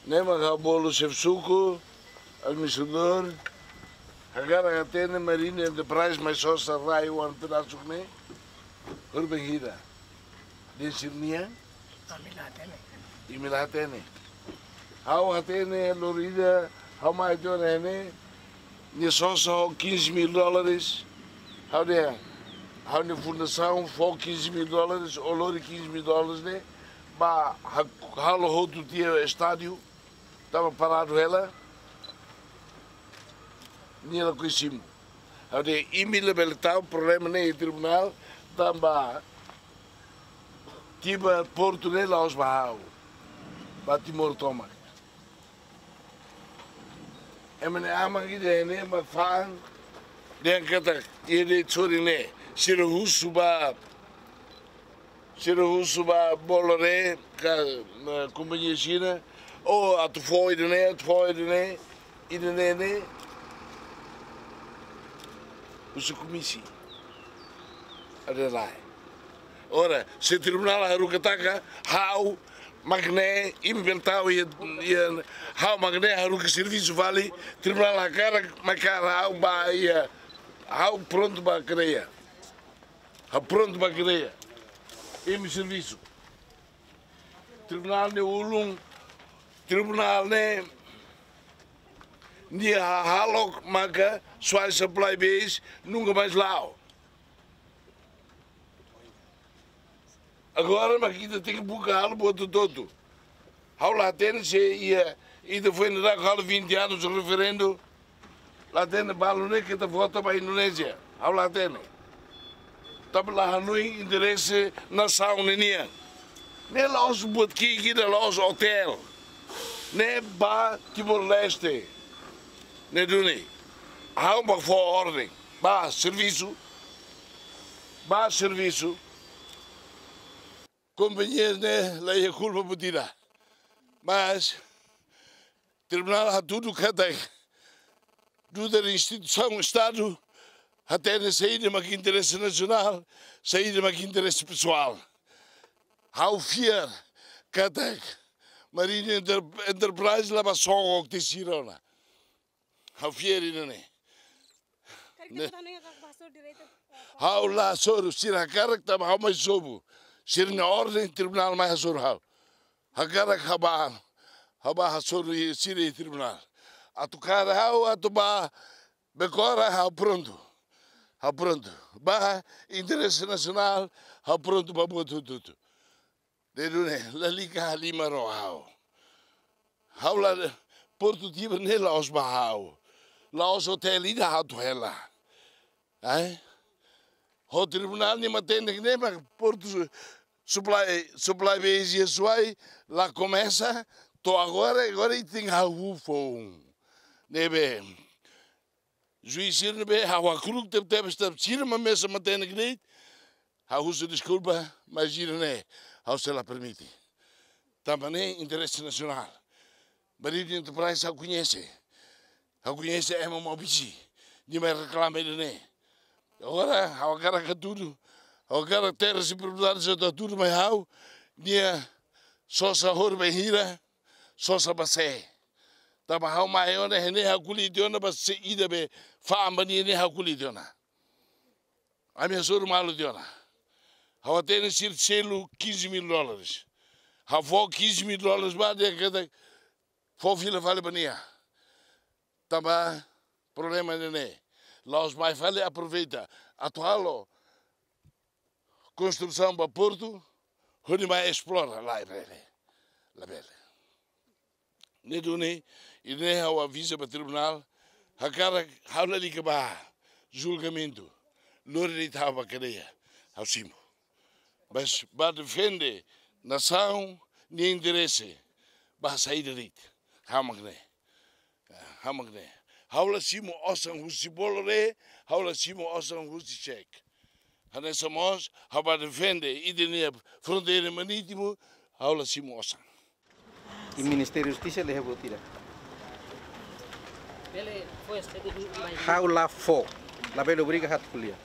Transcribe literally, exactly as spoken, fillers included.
Ne'e mak ha'u bolu xefe suku, administradór, hakarak hatene Marine Enterprise mai sosa rai oan pedasuk ne'e, hori bainhira. Dehan sira-nian? Ami la hatene. Imi la hatene. Ha'u hatene, lori ida, ha'u mai tiha ona ne'e, nia sosa ho quinze mil dólares. Ha'u dehan, ha'u-nia fundasaun fó quinze mil dólares, ou lori quinze mil dólares ne'e, ba ha-, halo hotu tiha estádiu, tanba paradu hela, nia lakohi simu. Ha'u dehan imi labele tau problema ne'e iha tribunál, tanba tiba portu ne'e la'ós ba ha'u, ba Timor tomak. Ema ne'e aman ida ne'e mak fa'an, dehan katak, iha de'it sorin ne'e, sira husu ba, sira husu ba Bolloré ka, eh, kompañia Xina, ou atu fó ida ne'e, atu fó ida ne'e, ida ne'e ne'e, husu komisi. Ada lae. Ora, se tribunál haruka taka, ha'u mak ne'e, imi bele tau iha, iha, ha'u mak ne'e haruka servisu fali, tribunál hakarak mai kaer ha'u ba iha, ha'u prontu ba kadeia. Ha'u prontu ba kadeia. Imi servisu. Tribunál ne'e ulun, tribunál ne'e nia hahalok maka Suai Supply Base nunka mais la'o. Agora mak ita tenke buka halo buat hotu-hotu. Ha'u la hatene se iha, ita foin daudauk halo vinte anos referendu, la hatene balu ne'e keta vota ba Indonézia. Ha'u la hatene. Tanba la hanoin interese nasaun ninian. Ne'e la'ós buat ki'ik ida, la'ós otél. Ne'e ba Timor-Leste. Ne'e duni. Ha'u mak fó orden. Ba servisu. Ba servisu. Kompañia ne'e la iha kulpa buat ida. Mas tribunál hatudu katak dutra instituisaun Estadu hatene saida mak interese nasionál, saida mak interese pesoál. Ha'u fiar katak Marine Enter-, Enterprise la bá sogok tiha sira ona. Ha'u fiar ida-ne'e. Karik ne'e. Deputadu nia kak pastor direita, eh, ha'u la hasoru, sira hakarak tanba ha'u mai sobu. Sira-nia orden tribunál mai hasoru ha'u. Hakarak ha'u bá, ha'u bá hasoru iha, sira iha tribunál. Atu kaer ha'u, atu bá bekora, ha'u prontu. Ha'u prontu. Ba interese nasionál, ha'u prontu ba buat hotu-hotu. Ne'e duni, lalika halimar ho ha'u. Ha'u la, portu Tibar ne'e la'ós ba ha'u. La'ós otél ida ha'u atu hela. Ai? Ho tribunál nia matenek ne'e mak portu su-, supply, supply base iha Suai la komesa, to'o agora, agora ita tenke hahú foun. Ne'ebé juís sira ne'ebé ha'u hakru'uk tebetebes tanba sira mak mesak matenek de'it, ha'u husu deskulpa, mas ida-ne'e ha'u sei la permite. Tanba ne'e interese nasionál. Marine Enterprise ha'u koñese. Ha'u koñese ema Maubisse. Nia mai reklama ida-ne'e. Agora, ha'u hakarak hatudu. Ha'u hakarak terras e propriedades atu hatudu mai ha'u. Nia sosa hori bainhira, sosa ba sé. Tanba ha'u mai ona, ne'e ha'u ko'alia tiha ona ba sé ida be fa'an ba nia ne'e ha'u ko'alia tiha ona. Ami hasoru malu tiha ona. Ha'u hatene sira selu quinze mil dólares. Ha'u fó quinze mil dólares ba dehan katak fó fila fali ba nia. Tanba problema ne'e ne'e. La'ós mai fali aproveita atu halo konstrusaun ba portu, hodi mai esplora, labele. Labele. Ne'e duni, ida-ne'e ha'u aviza ba tribunál, hakarak ha'u lalika ba julgamentu, lori de'it ha'u ba kadeia, ha'u simu. Mas ba defende nasaun nia interese, ba saida de'it, ha'u mak ne'e. Ha'u mak ne'e. Ha'u la simu osan husi Bolloré, ha'u la simu osan husi Cheikh. Hanesan mós, ha'u ba defende ita-nia fronteira marítimu, ha'u la simu osan. I Ministériu Justisa la iha buat ida. Ha'u la fó, labele obriga ha'u atu ko'alia.